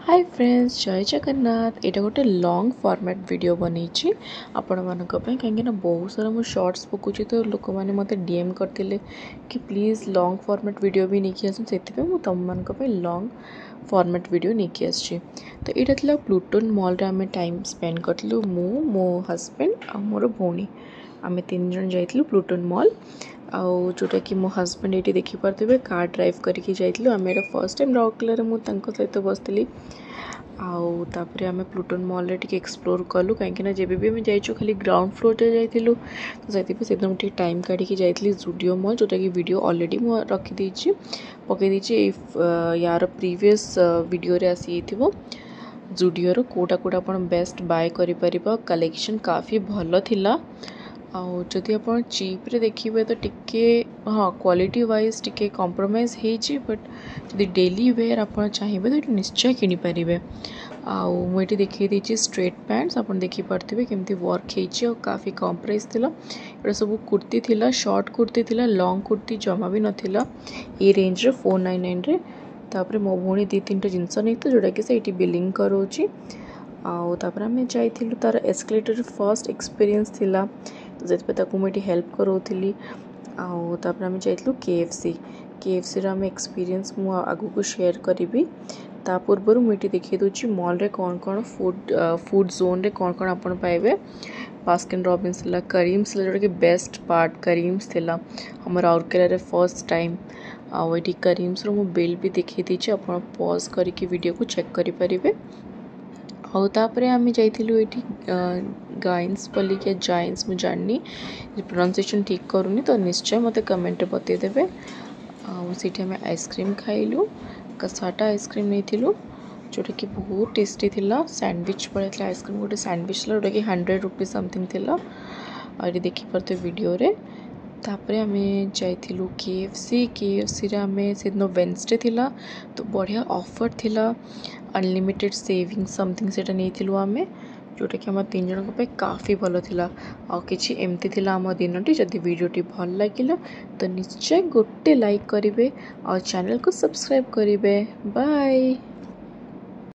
High friends, ଜୟ ଜଗନ୍ନାଥ। ଏଇଟା ଗୋଟେ long format video ବନେଇଛି ଆପଣମାନଙ୍କ ପାଇଁ, କାହିଁକିନା ବହୁତ ସାରା ମୁଁ ସର୍ଟସ୍ ପକାଉଛି ତ ଲୋକମାନେ ମୋତେ ଡିଏମ୍ କରିଥିଲେ କି ପ୍ଲିଜ୍ ଲଙ୍ଗ୍ ଫର୍ମାଟ୍ ଭିଡ଼ିଓ ବି ନେଇକି ଆସନ୍ତୁ। ସେଥିପାଇଁ ମୁଁ ତୁମମାନଙ୍କ ପାଇଁ ଲଙ୍ଗ୍ ଫର୍ମାଟ୍ ଭିଡ଼ିଓ ନେଇକି ଆସିଛି। ତ ଏଇଟା ଥିଲା ପ୍ଲୁଟୋନ୍ ମଲ୍ରେ ଆମେ ଟାଇମ୍ ସ୍ପେଣ୍ଡ କରିଥିଲୁ। ମୁଁ, ମୋ ହଜବେଣ୍ଡ ଆଉ ମୋର ଭଉଣୀ, ଆମେ ତିନି ଜଣ ଯାଇଥିଲୁ ପ୍ଲୁଟୋନ୍ ମଲ୍। ଆଉ ଯେଉଁଟାକି ମୋ ହଜବେଣ୍ଡ ଏଇଠି ଦେଖିପାରୁଥିବେ, କାର୍ ଡ୍ରାଇଭ୍ କରିକି ଯାଇଥିଲୁ ଆମେ। ଏଇଟା ଫର୍ଷ୍ଟ ଟାଇମ୍ ରାଉରକେଲାରେ ମୁଁ ତାଙ୍କ ସହିତ ବସିଥିଲି। ଆଉ ତାପରେ ଆମେ ପ୍ଲୁଟୋନ୍ ମଲ୍ରେ ଟିକେ ଏକ୍ସପ୍ଲୋର୍ କଲୁ, କାହିଁକିନା ଯେବେ ବି ଆମେ ଯାଇଛୁ ଖାଲି ଗ୍ରାଉଣ୍ଡ ଫ୍ଲୋର୍ରେ ଯାଇଥିଲୁ। ତ ସେଥିପାଇଁ ସେଦିନ ମୁଁ ଟିକେ ଟାଇମ୍ କାଢ଼ିକି ଯାଇଥିଲି ଜୁଡ଼ିଓ ମଲ୍, ଯେଉଁଟାକି ଭିଡ଼ିଓ ଅଲରେଡ଼ି ମୁଁ ରଖିଦେଇଛି, ପକାଇ ଦେଇଛି। ଏଇ ୟାର ପ୍ରିଭିୟସ୍ ଭିଡ଼ିଓରେ ଆସିଯାଇଥିବ ଜୁଡ଼ିଓର କେଉଁଟା କେଉଁଟା ଆପଣ ବେଷ୍ଟ ବାଏ କରିପାରିବ। କଲେକ୍ସନ୍ କାଫି ଭଲ ଥିଲା। ଆଉ ଯଦି ଆପଣ ଚିପ୍ରେ ଦେଖିବେ ତ ଟିକେ ହଁ କ୍ୱାଲିଟି ୱାଇଜ୍ ଟିକେ କମ୍ପ୍ରମାଇଜ୍ ହେଇଛି, ବଟ୍ ଯଦି ଡେଲି ୱେର୍ ଆପଣ ଚାହିଁବେ ତ ଏଠି ନିଶ୍ଚୟ କିଣିପାରିବେ। ଆଉ ମୁଁ ଏଠି ଦେଖେଇ ଦେଇଛି ଷ୍ଟ୍ରେଟ୍ ପ୍ୟାଣ୍ଟସ୍, ଆପଣ ଦେଖିପାରୁଥିବେ କେମିତି ୱାର୍କ ହେଇଛି ଆଉ କାଫି କମ୍ ପ୍ରାଇସ୍ ଥିଲା। ଏଇଟା ସବୁ କୁର୍ତ୍ତୀ ଥିଲା, ସର୍ଟ କୁର୍ତ୍ତୀ ଥିଲା, ଲଙ୍ଗ୍ କୁର୍ତ୍ତୀ ଜମା ବି ନଥିଲା ଏଇ ରେଞ୍ଜରେ 499ରେ। ତାପରେ ମୋ ଭଉଣୀ ଦୁଇ ତିନିଟା ଜିନିଷ ନେଇଥିଲା, ଯେଉଁଟାକି ସେ ଏଇଠି ବିଲିଂ କରାଉଛି। ଆଉ ତାପରେ ଆମେ ଯାଇଥିଲୁ, ତାର ଏସ୍କେଲେଟର୍ ଫର୍ଷ୍ଟ ଏକ୍ସପିରିଏନ୍ସ ଥିଲା, ତ ସେଥିପାଇଁ ତାକୁ ମୁଁ ଏଠି ହେଲ୍ପ କରାଉଥିଲି। ଆଉ ତାପରେ ଆମେ ଯାଇଥିଲୁ କେଏଫ୍ସି। କେଏଫ୍ସିର ଆମେ ଏକ୍ସପିରିଏନ୍ସ ମୁଁ ଆଗକୁ ସେୟାର କରିବି। ତା ପୂର୍ବରୁ ମୁଁ ଏଠି ଦେଖାଇ ଦେଉଛି ମଲ୍ରେ କ'ଣ କ'ଣ ଫୁଡ଼୍ ଜୋନ୍ରେ କ'ଣ କ'ଣ ଆପଣ ପାଇବେ। ବାସ୍କିନ୍ ରବିନ୍ସ ଥିଲା, କରିମ୍ସ ଥିଲା, ଯେଉଁଟାକି ବେଷ୍ଟ ପାର୍ଟ କରିମ୍ସ ଥିଲା ଆମ ରାଉରକେଲାରେ ଫର୍ଷ୍ଟ ଟାଇମ୍। ଆଉ ଏଠି କରିମ୍ସର ମୁଁ ବିଲ୍ ବି ଦେଖାଇ ଦେଇଛି, ଆପଣ ପଜ୍ କରିକି ଭିଡ଼ିଓକୁ ଚେକ୍ କରିପାରିବେ। ଆଉ ତାପରେ ଆମେ ଯାଇଥିଲୁ ଏଇଠି ଗାଇନ୍ସ ବୋଲିକି, ଜାଇନ୍ସ, ମୁଁ ଜାଣିନି, ପ୍ରୋନାଉନ୍ସିଏସନ୍ ଠିକ୍ କରୁନି ତ ନିଶ୍ଚୟ ମୋତେ କମେଣ୍ଟରେ ବତେଇଦେବେ। ଆଉ ସେଇଠି ଆମେ ଆଇସ୍କ୍ରିମ୍ ଖାଇଲୁ, କସାଟା ଆଇସ୍କ୍ରିମ୍ ନେଇଥିଲୁ, ଯେଉଁଟାକି ବହୁତ ଟେଷ୍ଟି ଥିଲା। ସ୍ୟାଣ୍ଡୱିଚ୍ ଭଳିଆ ଥିଲା ଆଇସ୍କ୍ରିମ୍, ଗୋଟେ ସ୍ୟାଣ୍ଡୱିଚ୍ ଥିଲା ଯେଉଁଟାକି 100 ରୁପିଜ୍ ସମଥିଙ୍ଗ ଥିଲା। ଆଉ ଏଠି ଦେଖିପାରୁଥିବେ ଭିଡ଼ିଓରେ। ତାପରେ ଆମେ ଯାଇଥିଲୁ କେଏଫ୍ସି। କେଏଫ୍ସିରେ ଆମେ ସେଦିନ ୱେନ୍ସଡେ ଥିଲା ତ ବଢ଼ିଆ ଅଫର୍ ଥିଲା, ଅନଲିମିଟେଡ଼ ସେଭିଙ୍ଗ ସମଥିଙ୍ଗ, ସେଇଟା ନେଇଥିଲୁ ଆମେ, ଯେଉଁଟାକି ଆମ ତିନି ଜଣଙ୍କ ପାଇଁ କାଫି ଭଲ ଥିଲା। ଆଉ କିଛି ଏମିତି ଥିଲା ଆମ ଦିନଟି। ଯଦି ଭିଡ଼ିଓଟି ଭଲ ଲାଗିଲା ତ ନିଶ୍ଚୟ ଗୋଟେ ଲାଇକ୍ କରିବେ ଆଉ ଚ୍ୟାନେଲକୁ ସବସ୍କ୍ରାଇବ୍ କରିବେ। ବାଏ।